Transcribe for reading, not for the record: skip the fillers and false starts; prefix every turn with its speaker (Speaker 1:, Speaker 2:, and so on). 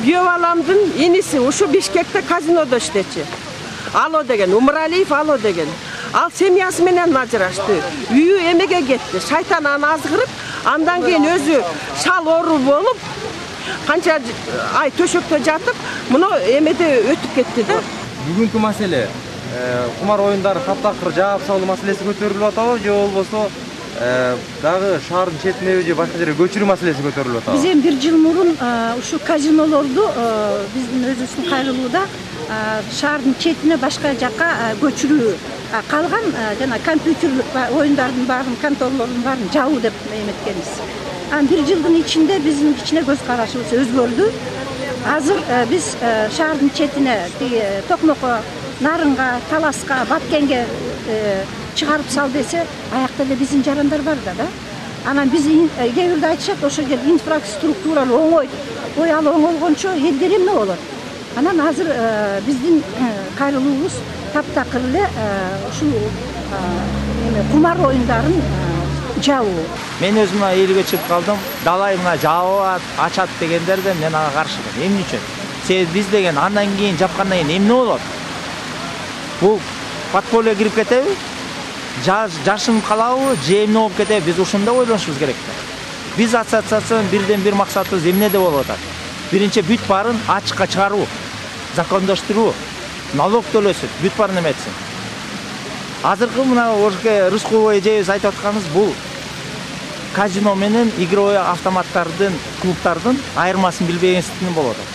Speaker 1: күйөө баламдын иниси ушу Бишкекте казинодо иштечи. Ало деген, Умаралиев Ало деген. Ал семьясы менен ажырашты. Үйү эмеге кетти. Шайтан аны азгырып, андан кийин өзү шал оору болуп, канча ай төшөктө жатып, муну эмеде өтүп кетти да.
Speaker 2: Бүгүнкү маселе кумар оюндары таптакыр жаап салуу маселеси көтөрүлүп атабы, же болбосо дагы шаардын четине же башка жерге көчүрүү маселеси көтөрүлүп атабы?
Speaker 3: Биз эми 1 жыл мурун ушу казинолорду биздин өзүбүздүн кайрылууда шаардын четине башка жакка көчүрүү, калган жана компьютерлик оюндардын баарын, конторлордун баарын жабуу деп эметкенбиз. 1 жылдын ичинде биздин кичине көз карашыбыз өзгөрдү. Азыр биз шаардын четине, Токмокко, Нарынга, Таласка, Баткенге чыгарып сал десе, аякта эле биздин жарандар бар да. Анан биз кээ бирде айтышат, ошол жерде инфраструктура оңой. Ой, ал оңолгончо элдер эмне болот? Анан азыр биздин кайрылуубуз таптакыр эле ушул кумар оюндарын жабуу.
Speaker 4: Мен өзүм элге чыгып калдым. Далай мына жабат, ачат дегендерден мен ага каршымын. Эмне үчүн? Себеби биз деген андан кийин жапкандан кийин эмне болот? Бул подполье кирип кетеби? Жашынып калабы, же эмне болуп кетеби? Биз ушунда ойлонушубуз керек да. Биз ассоциациянын бирден бир максатыбыз эмнеде болуп атат? Биринчи бүт баарын ачыкка чыгаруу, закондоштуруу, налог төлөсүн, бүт баарын эметсин. Азыркы мына Рыскулова эжебиз айтып атканыбыз бул казино менен игровой автоматтардын, клубтардын айырмасын билбегендиктен болуп атат.